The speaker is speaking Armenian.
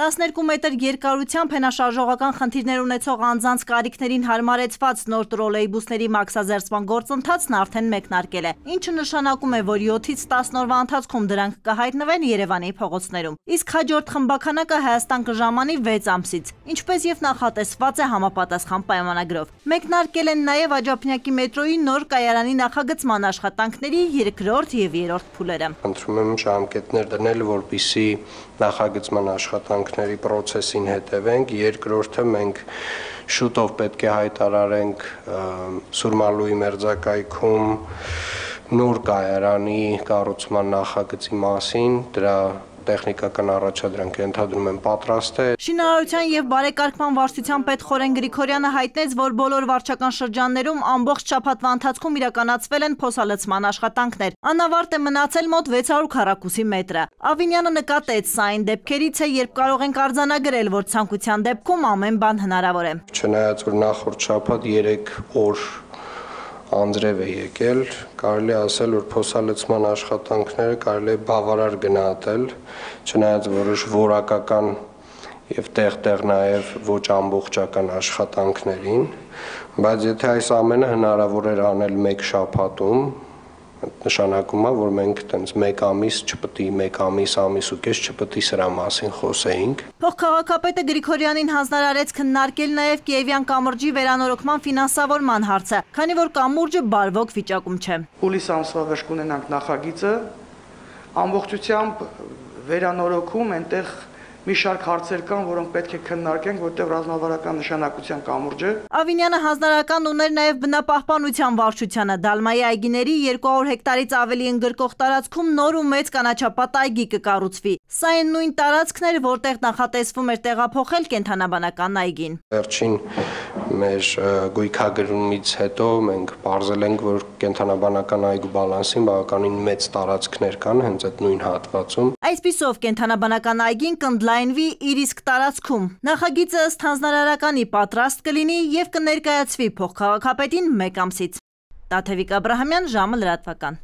12 մետր երկարությամբ հենաշարժողական խնդիրներ ունեցող անձանց կարիքներին հարմարեցված նոր տրոլեյբուսների մաքսազերծման գործընթացն արդեն մեկնարկել է, ինչը նշանակում է, որ 7-ից 10 օրվա ընթացքում դրանք կհայտնվեն Երևանի փողոցներում։ Իսկ հաջորդ խմբականակը Հայաստան կժամանի 6 ամսից, ինչպես եւ նախատեսված է համապատասխան պայմանագրով։ Մեկնարկել են նաեւ Աջափնյակի մետրոյի նոր կայարանի նախագծման աշխատանքների երկրորդ եւ երրորդ փուլերը։ Խնդրում եմ ժամկետներ դնել, որպեսզի նախագծման աշխատանքների process-ին հետևենք, երկրորդը մենք շուտով պետք է հայտարարենք Սուրմալուի մերձակայքում նոր կայարանի կառուցման նախագծի մասին, դրա տեխնիկական առաջադրանքը ընդհանրում են պատրաստ է։ Շինարարության եւ բարեկարգման վարչության պետ Խորեն Գրիգորյանը հայտնեց, որ բոլոր վարչական շրջաններում ամբողջ շաբաթվա ընթացքում իրականացվել են փոսալցման աշխատանքներ։ Անավարտ է մնացել մոտ 600 քառակուսի մետրը։ Ավինյանը նկատեց, սա այն դեպքերից է, երբ կարող ենք արձանագրել, որ ցանկության դեպքում ամեն բան հնարավոր է։ Չնայած որ նախորդ շաբաթ 3 օր անձրև է եկել, կարելի ասել, որ փոսալցման աշխատանքները կարելի է բավարար գնահատել, չնայած որոշ որակական եւ տեղ-տեղ նաեւ ոչ ամբողջական աշխատանքներին, բայց եթե այս ամենը հնարավոր էր անել մեկ շաբաթում, նշանակում է, որ մենք տենց մեկ ամիս չպետք է, մեկ ամիս ու կես չպետք է սրա մասին խոսեինք։ Փոխքաղաքապետը Գրիգորյանին հանձնարարեց քննարկել նաև Կիևյան կամուրջի վերանորոգման ֆինանսավորման հարցը, քանի որ կամուրջը բարվոք վիճակում չէ։ Հուլիս ամսվա վերջ կունենանք նախագիծը, ամբողջությամբ վերանորոգում այնտեղ մի շարք հարցեր կան, որոնք պետք է քննարկենք, որտեղ ռազմավարական նշանակության կամուրջ է։ Ավինյանը հանձնարարական ուներ նաև բնապահպանության վարչությանը, Դալմայի այգիների 200 հեկտարից ավելի ընդգրկող տարածքում նոր ու մեծ կանաչապատ այգի կկառուցվի։ Սա այն նույն տարածքն էր, որտեղ նախատեսվում էր տեղափոխել կենդանաբանական այգին։ Վերջին մեր գույքագրումից հետո մենք պարզել ենք, որ կենդանաբանական այգու բալանսին բավականին մեծ տարածքներ կան հենց այդ նույն հատվածում։ Այսպիսով կենդանաբանական այգին կընդլայնվի իր իսկ տարածքում։ Նախագիծը ըստ հանձնարարականի պատրաստ կլինի եւ կներկայացվի փոխքաղաքապետին մեկ ամսից։ Տաթևիկ Աբրահամյան, ժամը լրատվական։